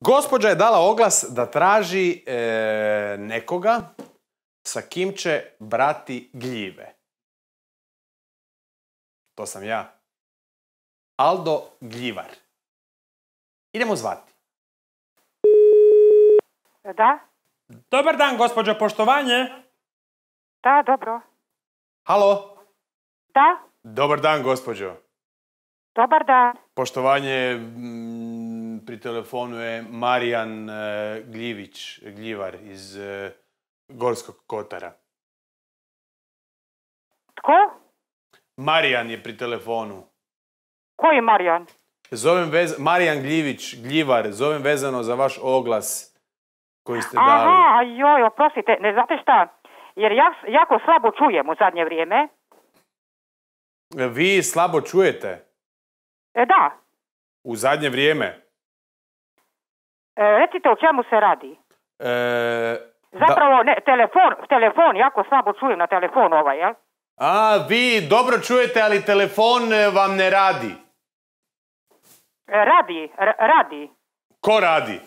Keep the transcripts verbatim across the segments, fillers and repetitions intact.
Gospođa je dala oglas da traži e, nekoga sa kim će brati gljive. To sam ja. Aldo Gljivar. Idemo zvati. Da? Dobar dan, gospođo, poštovanje. Da, dobro. Halo? Da? Dobar dan, gospođo. Dobar dan. Poštovanje, m, pri telefonu je Marijan e, Gljivić, Gljivar iz e, Gorskog kotara. Tko? Marijan je pri telefonu. Koji Marijan? Zovem vez... Marijan Gljivić, Gljivar, zovem vezano za vaš oglas koji ste dali. Aha, joj, oprostite, ne znate šta, jer ja jako slabo čujem u zadnje vrijeme. Vi slabo čujete? E, da. U zadnje vrijeme? E, recite o čemu se radi. E, Zapravo, da... ne, telefon, telefon, jako slabo čujem na telefonu ovaj, jel? A, vi dobro čujete, ali telefon vam ne radi. E, radi, r- radi. Ko radi?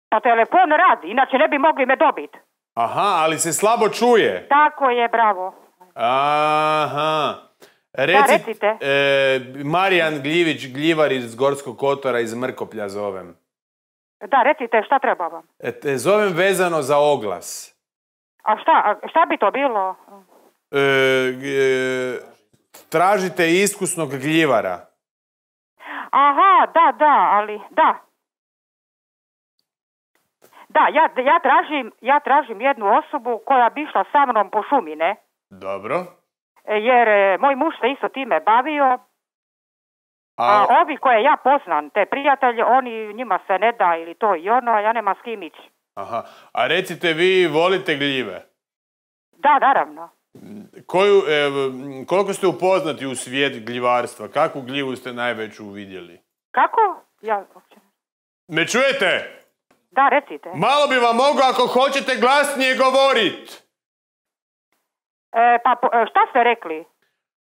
Pa telefon radi, inače ne bi mogli me dobiti. Aha, ali se slabo čuje. Tako je, bravo. Aha. Reci, da, recite. E, Marijan Gljivić, Gljivar iz Gorskog kotara, iz Mrkoplja zovem. Da, recite, šta treba vam? E, te zovem vezano za oglas. A šta, a šta bi to bilo? E, e, tražite iskusnog gljivara. Aha, da, da, ali, da. Da, ja, ja, tražim, ja tražim jednu osobu koja bi išla sa mnom po šumi, ne? Dobro. Jer e, moj muž se isto time bavio, a, a ovi koje ja poznam, te prijatelje, oni, njima se ne da ili to i ono, a ja nema s kim ići. Aha, a recite, vi volite gljive? Da, naravno. Koju, e, koliko ste upoznati u svijet gljivarstva? Kakvu gljivu ste najveću vidjeli? Kako? Ja... Me čujete? Da, recite. Malo bi vam mogao ako hoćete glasnije govorit. E, pa po, šta ste rekli?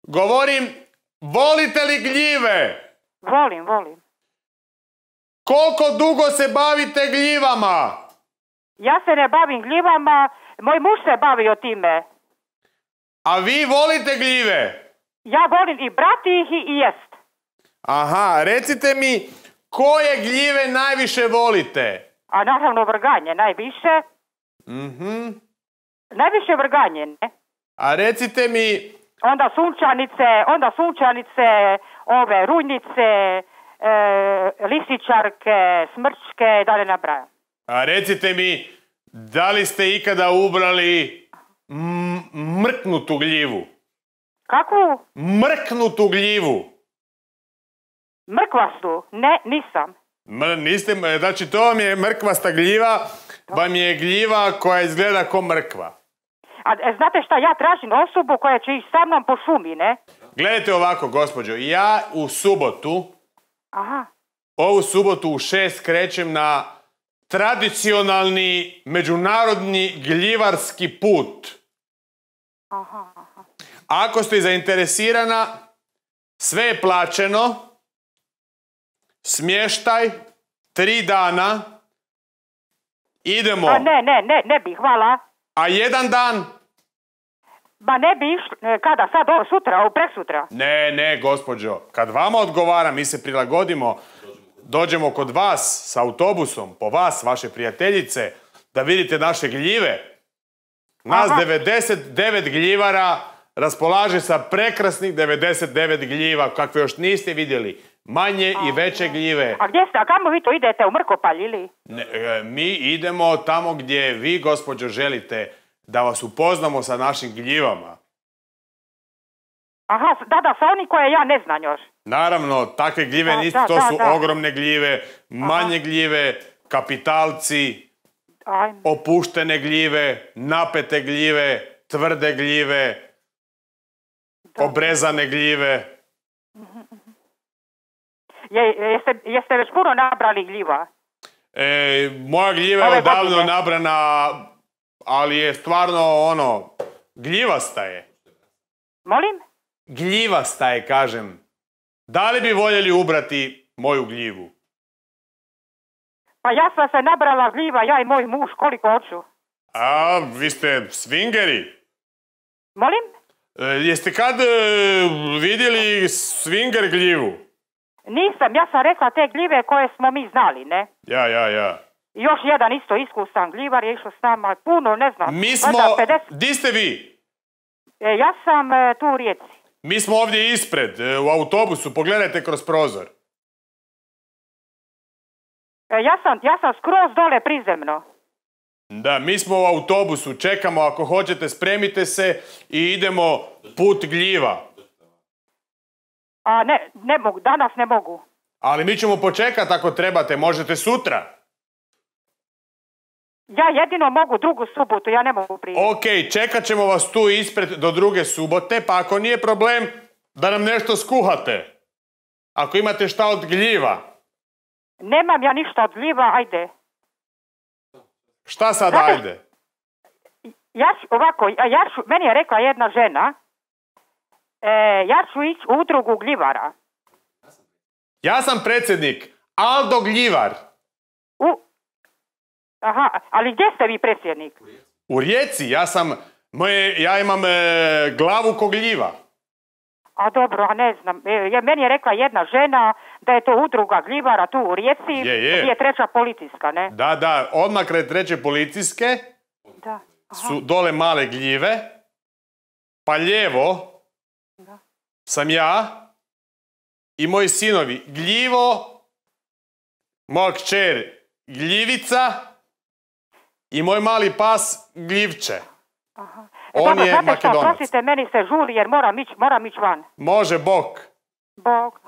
Govorim, volite li gljive? Volim, volim. Koliko dugo se bavite gljivama? Ja se ne bavim gljivama, moj muž se bavio time. A vi volite gljive? Ja volim i brati ih i jest. Aha, recite mi, koje gljive najviše volite? A naravno vrganje najviše. Mhm. Najviše vrganje, ne? A recite mi... Onda sunčanice, onda sunčanice, ove rujnice, e, lisičarke, smrčke, da ne nabrajam. A recite mi, da li ste ikada ubrali m- mrknutu gljivu? Kakvu? Mrknutu gljivu. Mrkvastu? Ne, nisam. M- niste, znači to vam je mrkvasta gljiva, vam je gljiva koja izgleda ko mrkva. A e, znate šta, ja tražim osobu koja će ići sa mnom po šumi, ne? Gledajte ovako, gospođo, ja u subotu, Aha. ovu subotu u šest krećem na tradicionalni međunarodni gljivarski put. Aha, aha. Ako ste zainteresirana, sve je plaćeno, smještaj, tri dana, idemo. A ne, ne, ne, ne bi, hvala. A jedan dan? Ba ne bi išli, kada, sad ovo sutra, ovo preksutra? Ne, ne, gospođo, kad vama odgovara, mi se prilagodimo, dođemo kod vas s autobusom, po vas, vaše prijateljice, da vidite naše gljive. Nas Aha. devedeset devet gljivara raspolaže sa prekrasnih devedeset devet gljiva, kakve još niste vidjeli. Manje i veće gljive. A gdje ste, a kamo vi to idete, u Mrkopalj ili? Ne, e, mi idemo tamo gdje vi, gospođo, želite da vas upoznamo sa našim gljivama. Aha, da, da, sa oni koje ja ne znam još. Naravno, takve gljive Da, nisu, da, to da, su da. ogromne gljive, manje Aha. gljive, kapitalci, Ajme. opuštene gljive, napete gljive, tvrde gljive, Da. obrezane gljive. Je, jeste, jeste već puno nabrali gljiva? E, moja gljiva je Ove odavno godine. nabrana, ali je stvarno ono, gljivasta je. Molim? Gljivasta je, kažem. Da li bi voljeli ubrati moju gljivu? Pa ja sam se nabrala gljiva, ja i moj muž, koliko hoću. A, vi ste swingeri. Molim? E, jeste kad e, vidjeli swinger gljivu? Nisam, ja sam rekla te gljive koje smo mi znali, ne? Ja, ja, ja. I još jedan isto iskusan gljivar je išao s nama, puno, ne znam. Mi smo... valjda pedeset. Di ste vi? E, ja sam e, tu u Rijeci. Mi smo ovdje ispred, e, u autobusu, pogledajte kroz prozor. E, ja sam, ja sam skroz dole prizemno. Da, mi smo u autobusu, čekamo, ako hoćete spremite se i idemo put gljiva. A ne, ne mogu, danas ne mogu. Ali mi ćemo počekati ako trebate, možete sutra. Ja jedino mogu drugu subotu, ja ne mogu prije. Ok, čekat ćemo vas tu ispred do druge subote, pa ako nije problem da nam nešto skuhate. Ako imate šta od gljiva. Nemam ja ništa od gljiva, ajde. Šta sad Znate, ajde? Ja ću, ovako, ja ću, meni je rekla jedna žena, e, ja ću ići u udrugu gljivara. Ja sam predsjednik Aldo Gljivar. U, aha, ali gdje ste vi predsjednik? U Rijeci, ja sam, moje, ja imam e, glavu ko gljiva. A dobro, a ne znam. E, je, meni je rekla jedna žena da je to udruga gljivara tu u Rijeci, Je, je. gdje je treća policijska, ne? Da, da, odmah kraj treće policijske Da. Aha. su dole male gljive, pa lijevo Da. sam ja i moji sinovi Gljivo, moja kćer Gljivica i moj mali pas Gljivče. Aha. On dobro, je znate šta, Makedonac. prosite, meni se žuri jer moram ići, moram ići van. Može, bok. Bog.